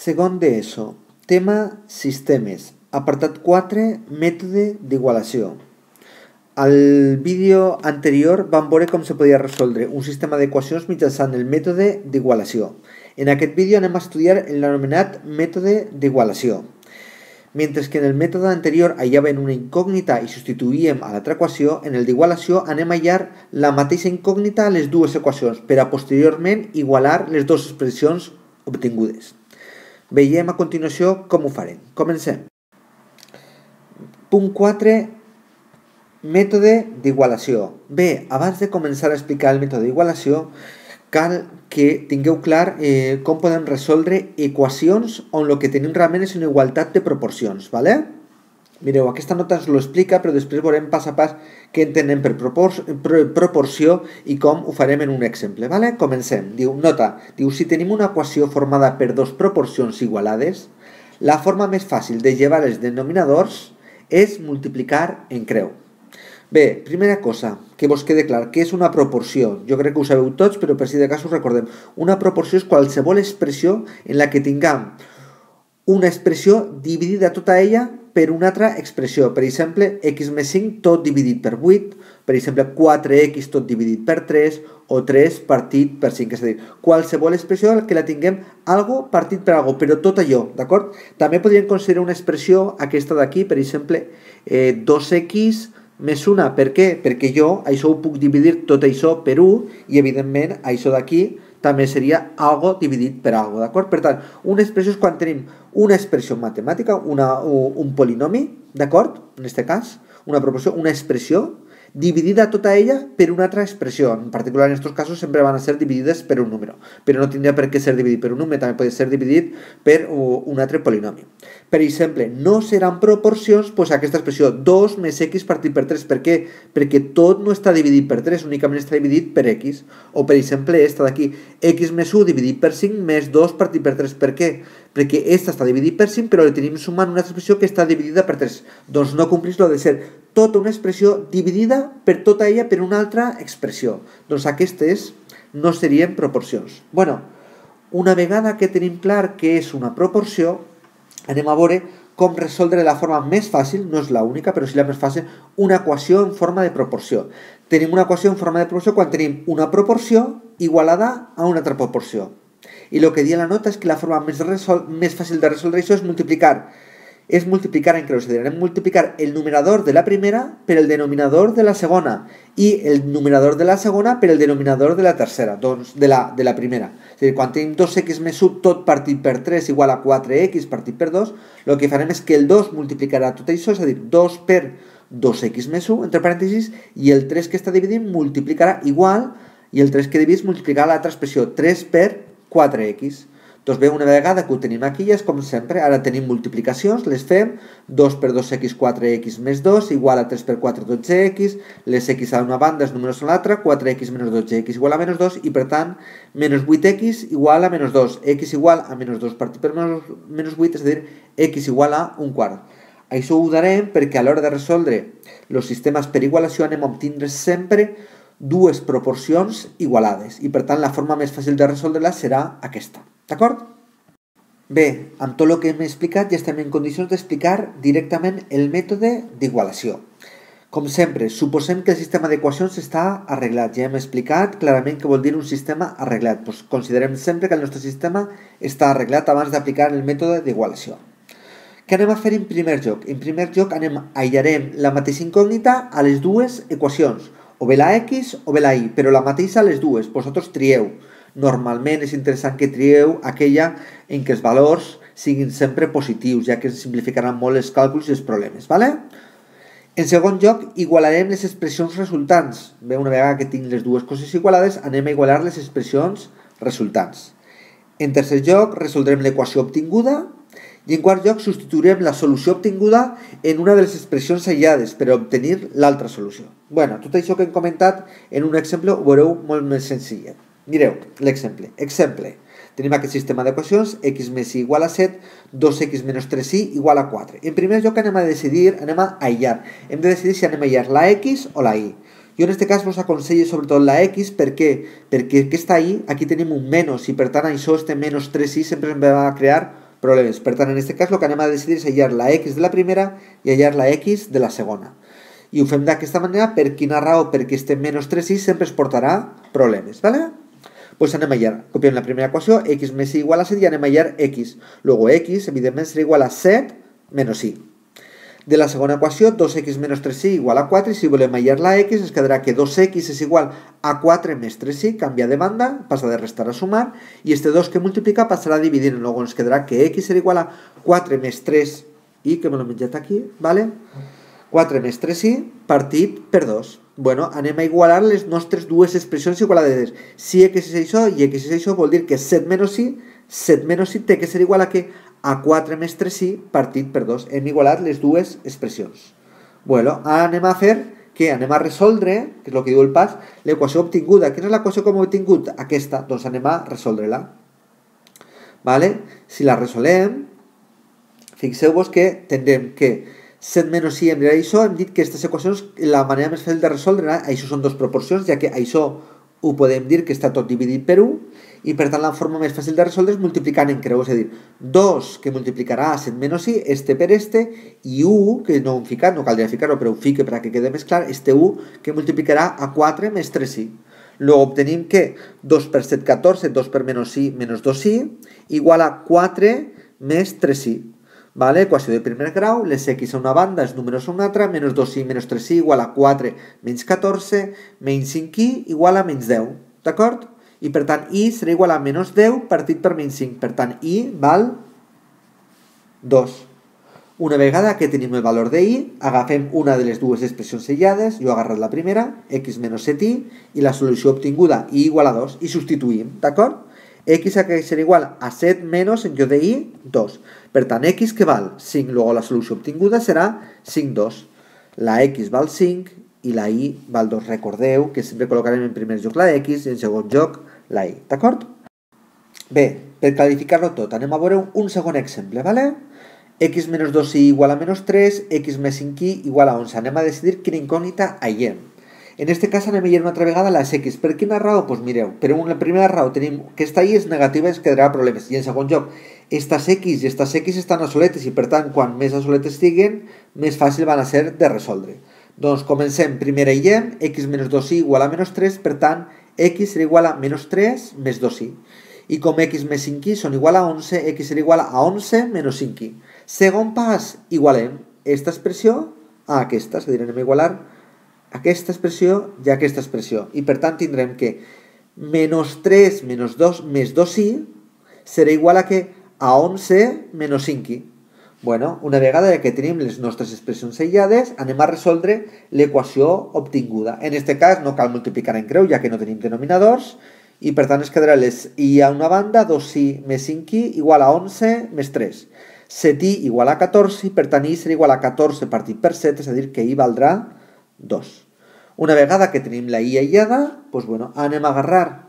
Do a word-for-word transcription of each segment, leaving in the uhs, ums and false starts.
Segon d'ESO, tema sistemes, apartat quatre, mètode d'igualació. Al vídeo anterior vam veure com se podia resoldre un sistema d'equacions mitjançant el mètode d'igualació. En aquest vídeo anem a estudiar l'anomenat mètode d'igualació. Mentre que en el mètode anterior hallaven una incògnita i substituïem a l'altra equació, en el d'igualació anem a hallar la mateixa incògnita a les dues equacions per a posteriorment igualar les dues expressions obtingudes. Veiem a continuació com ho farem. Comencem. Punt quatre. Mètode d'igualació. Bé, abans de començar a explicar el mètode d'igualació, cal que tingueu clar eh, com podem resoldre equacions on el que tenim realment és una igualtat de proporcions, ¿vale? Mireu, aquesta nota ens ho explica, però després veurem pas a pas què entenem per propor pro proporció i com ho farem en un exemple, ¿vale? Comencem. Diu, nota, diu, si tenim una equació formada per dos proporcions igualades, la forma més fàcil de llevar els denominadors és multiplicar en creu. Bé, primera cosa, que vos quede clar, què és una proporció? Jo crec que ho sabeu tots, però per si de cas us recordem. Una proporció és qualsevol expressió en la que tinguem una expressió dividida tota ella per una altra expressió. Per exemple, x més cinc tot dividit per vuit, per exemple, quatre x tot dividit per tres, o tres partit per cinc. És a dir, qualsevol expressió en la que la tinguem algo partit per algo, però tot allò, d'acord? També podríem considerar una expressió, aquesta d'aquí, per exemple, eh, dos x més una. Per què? Perquè jo això ho puc dividir tot això per un i evidentment això d'aquí també seria algo dividit per algo, d'acord? Per tant, una expressió és quan tenim una expressió matemàtica, una, un polinomi, d'acord? En aquest cas, una proporció, una expressió dividida tota ella per una altra expressió. En particular, en aquests casos sempre van a ser dividides per un número, però no tindria per què ser dividit per un número, també pot ser dividit per un altre polinomi. Per exemple, no seran proporcions doncs, aquesta expressió dos més x partit per tres. Per què? Perquè tot no està dividit per tres, únicament està dividit per x. O per exemple, esta d'aquí, x més u dividit per cinc més dos partit per tres. Per què? Perquè esta està dividit per cinc, però li tenim sumant una expressió que està dividida per tres. Doncs no complís lo de ser tota una expressió dividida per tota ella per una altra expressió. Doncs aquestes no serien proporcions. Bueno, una vegada que tenim clar què és una proporció, anem a veure com resoldre la forma més fàcil, no és l'única, però sí la més fàcil, una equació en forma de proporció. Tenim una equació en forma de proporció quan tenim una proporció igualada a una altra proporció. I el que dia la nota és que la forma més, més fàcil de resoldre això és multiplicar. És multiplicar en creu, és a dir, anem a multiplicar el numerador de la primera per el denominador de la segona i el numerador de la segona per el denominador de la tercera, doncs de la, de la primera. És a dir, quan tenim dos x més u tot partit per tres igual a quatre x partit per dos, el que farem és que el dos multiplicarà tot això, és a dir, dos per dos x més u, entre parèntesis, i el tres que està dividint multiplicarà igual, i el tres que dividís multiplicarà l'altra expressió, tres per quatre x. Doncs bé, una vegada que ho tenim aquí, ja és com sempre, ara tenim multiplicacions, les fem, dos per dos x, quatre x més dos, igual a tres per quatre, dotze x, les x a una banda, els números a l'altra, quatre x menys dotze x igual a menys dos, i per tant, menys vuit x igual a menys dos, x igual a menys dos partit per menys vuit, és a dir, x igual a un quart. Això ho darem perquè a l'hora de resoldre els sistemes per igualació anem a obtindre sempre dues proporcions igualades, i per tant la forma més fàcil de resoldre-la serà aquesta. D'acord? Bé, amb tot el que hem explicat ja estem en condicions d'explicar directament el mètode d'igualació. Com sempre, suposem que el sistema d'equacions està arreglat. Ja hem explicat clarament què vol dir un sistema arreglat. Pues considerem sempre que el nostre sistema està arreglat abans d'aplicar el mètode d'igualació. Què anem a fer en primer lloc? En primer lloc anem a aïllarem la mateixa incògnita a les dues equacions, o bé la x o bé la y, però la mateixa a les dues. Vosaltres trieu. Normalment és interessant que trieu aquella en què els valors siguin sempre positius, ja que ens simplificaran molt els càlculs i els problemes, ¿vale? En segon lloc, igualarem les expressions resultants. Bé, una vegada que tinc les dues coses igualades, anem a igualar les expressions resultants. En tercer lloc, resoldrem l'equació obtinguda. I en quart lloc, substituirem la solució obtinguda en una de les expressions aïllades per obtenir l'altra solució. Bueno, tot això que hem comentat en un exemple ho veureu molt més senzillet. Mireu, l'exemple. Exemple. Tenim aquest sistema d'equacions, x més y igual a set, dos x menys tres y igual a quatre. En primer lloc anem a decidir, anem a aïllar. Hem de decidir si anem a aïllar la x o la y. Jo en aquest cas vos aconsello sobretot la x, per què? Perquè aquesta y, aquí tenim un menys, i per tant això, este menys tres y, sempre ens va a crear problemes. Per tant, en aquest cas el que anem a decidir és hallar la x de la primera i hallar la x de la segona. I ho fem d'aquesta manera, per quina raó? Perquè este menys tres i sempre es portarà problemes, ¿vale? Pues anem a hallar, copiem la primera equació, x més y igual a set i anem a hallar x. Luego x, evidentment, serà igual a set menys y. De la segona equació, dos x menys tres y igual a quatre, i si volem hallar la x, ens quedarà que dos x és igual a quatre més tres y, canvia de banda, passa de restar a sumar, i este dos que multiplica passarà a dividir, i llavors ens quedarà que x serà igual a quatre més tres y, que me l'he menjat aquí, ¿vale? quatre més tres y partit per dos. Bueno, anem a igualar les nostres dues expressions igualades. Si x és això i x és això, vol dir que set menys y, set menys y té que ser igual a què? A quatre més tres y partit per dos. Hem igualat les dues expressions. Bueno, ara anem a fer que anem a resoldre, que és el que diu el pas, l'equació obtinguda. Quina és l'equació que hem obtingut? Aquesta. Doncs anem a resoldre-la. Vale? Si la resolem, fixeu-vos que tindrem que set menys y hem dit això, hem dit que aquestes equacions, la manera més fàcil de resoldre, això són dues proporcions, ja que això ho podem dir que està tot dividit per un, i per tant la forma més fàcil de resoldre és multiplicant en creu, és a dir, dos que multiplicarà set menys y, este per este, i u, que no ho hem ficat, no caldria ficar-ho, però ho fique perquè quede més clar, este u que multiplicarà a quatre més tres y. Luego obtenim que dos per set, catorze, dos per menys y, menys dos y, igual a quatre més tres y. Vale? Equació de primer grau, les x a una banda, els números a una altra, menys dos y menys tres y igual a quatre menys catorze, menys cinc y igual a menys deu, d'acord? I per tant, y serà igual a menys deu partit per menys cinc, per tant, y val dos. Una vegada que tenim el valor de y, agafem una de les dues expressions aïllades, jo he agarrat la primera, x menys set y, i la solució obtinguda, y igual a dos, i substituïm, d'acord? X ha que ser igual a set menys en lloc de y, dos. Per tant, x que val cinc, luego la solució obtinguda serà cinc, dos. La x val cinc i la y val dos. Recordeu que sempre col·locarem en primer lloc la x i en segon lloc la y, d'acord? Bé, per clarificar-lo tot, anem a veure un segon exemple, ¿vale? X menys dos y igual a menys tres, x més cinc y igual a onze. Anem a decidir quina incògnita aïllem. En este cas anem a veure una altra vegada les x. Per quina raó? Doncs mireu, per una primera raó tenim que esta y és negativa i ens quedarà problemes. I en segon lloc, estas x i estas x estan a soletes i per tant, quan més a soletes estiguen, més fàcil van a ser de resoldre. Doncs comencem, primer aïllem, x menys dos y igual a menys tres, per tant, x serà igual a menys tres més dos y. I com x més cinc y són igual a onze, x serà igual a onze menys cinc y. Segon pas, igualem aquesta expressió a aquesta, és a dir, anem a igualar aquesta expressió i aquesta expressió. I per tant tindrem que menys tres menys dos més dos y serà igual a que a onze menys cinc y. Bueno, una vegada que tenim les nostres expressions aïllades, anem a resoldre l'equació obtinguda. En aquest cas no cal multiplicar en creu, ja que no tenim denominadors, i per tant es quedarà les y a una banda, dos y més cinc y igual a onze més tres. set y igual a catorze, i per tant y serà igual a catorze partit per set, és a dir, que y valdrà dos. Una vegada que tenim la y aïllada, doncs, bueno, anem a agarrar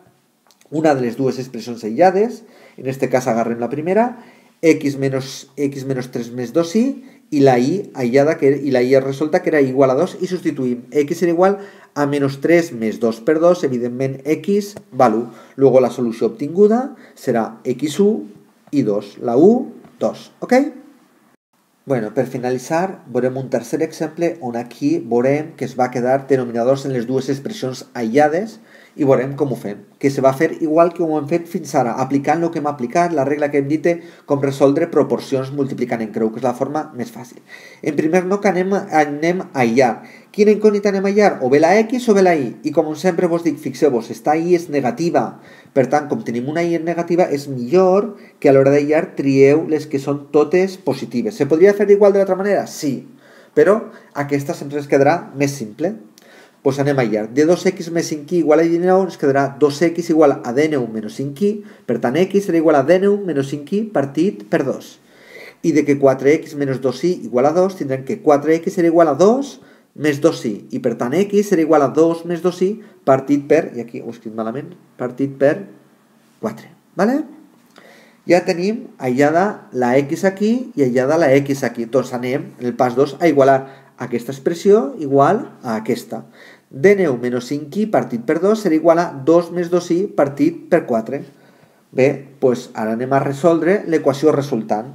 una de les dues expressions aïllades, en aquest cas agarrem la primera, x menys, x menys tres més dos y, i la y aïllada, que, i la y resolta que era igual a dos, i substituïm. X serà igual a menys tres més dos per dos, evidentment x val u. Luego la solució obtinguda serà x u i dos, la u, dos, ok? Bueno, per finalitzar, veurem un tercer exemple on aquí veurem que es va quedar denominadors en les dues expressions aïllades i veurem com ho fem, que se va fer igual que ho hem fet fins ara, aplicant el que hem aplicat, la regla que hem dit com resoldre proporcions multiplicant en creu, que és la forma més fàcil. En primer lloc anem, anem a aïllar. Quina incògnita anem a aïllar? O bé la x o bé la y. I com sempre vos dic, fixeu-vos, esta y és negativa. Per tant, com tenim una y negativa, és millor que a l'hora d'aïllar trieu les que són totes positives. Se podria fer igual de l'altra manera? Sí. Però aquesta sempre ens quedarà més simple. Doncs anem a aïllar. De dos x més cinc y igual a dinou ens quedarà dos x igual a dinou menys cinc y, per tant x serà igual a dinou menys cinc y partit per dos. I de que quatre x menys dos y igual a dos, tindrem que quatre x serà igual a dos més dos y, i per tant x serà igual a dos més dos y partit per, i aquí ho he escrit malament, partit per quatre. ¿Vale? Ja tenim aïllada la x aquí i aïllada la x aquí. Doncs anem, en el pas dos, a igualar aquesta expressió igual a aquesta. dinou menys cinc y partit per dos serà igual a dos més dos y partit per quatre. Bé, doncs ara anem a resoldre l'equació resultant.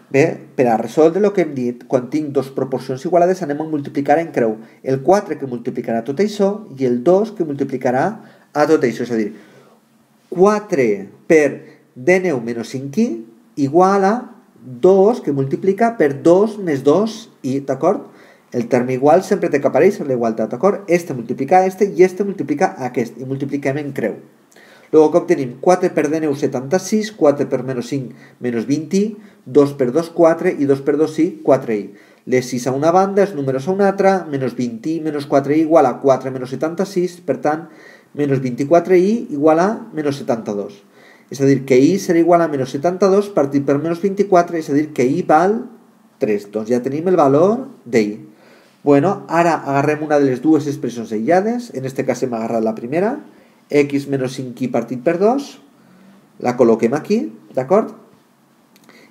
Bé, per a resoldre el que hem dit, quan tinc dues proporcions igualades anem a multiplicar en creu el quatre que multiplicarà tot això i el dos que multiplicarà a tot això. És a dir, quatre per d neu menys cinc i igual a dos que multiplica per dos més dos i, d'acord? El terme igual sempre té que aparèixer la igualtat, d'acord? Este multiplica a este i este multiplica a aquest i multipliquem en creu. Luego que obtenim quatre per d neu setanta-sis, quatre per menys cinc menys vint i, dos per dos quatre i dos per dos i, quatre i. Les sis a una banda, els números a una altra, menys vint i menys quatre i igual a quatre menys setanta-sis, per tant, menys vint-i-quatre i igual a menys setanta-dos. És a dir, que i serà igual a menys setanta-dos partit per menys vint-i-quatre, és a dir, que i val tres. Doncs ja tenim el valor de i. Bueno, ara agarrem una de les dues expressions aïllades, en este cas hem agarrat la primera, x menys cinc i partit per dos, la col·loquem aquí, d'acord?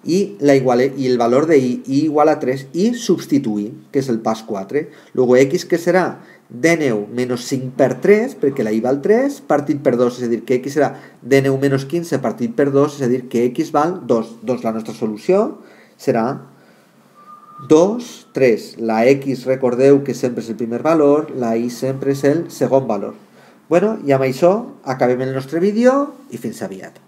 I, la iguale, i el valor de i, i igual a tres, i substituir, que és el pas quatre. Luego x, que serà d neu menys cinc per tres, perquè la i val tres, partit per dos, és a dir, que x serà d neu menys quinze partit per dos, és a dir, que x val dos. Doncs la nostra solució serà dos, tres. La x, recordeu que sempre és el primer valor, la i sempre és el segon valor. Bueno, i amb això acabem el nostre vídeo i fins aviat.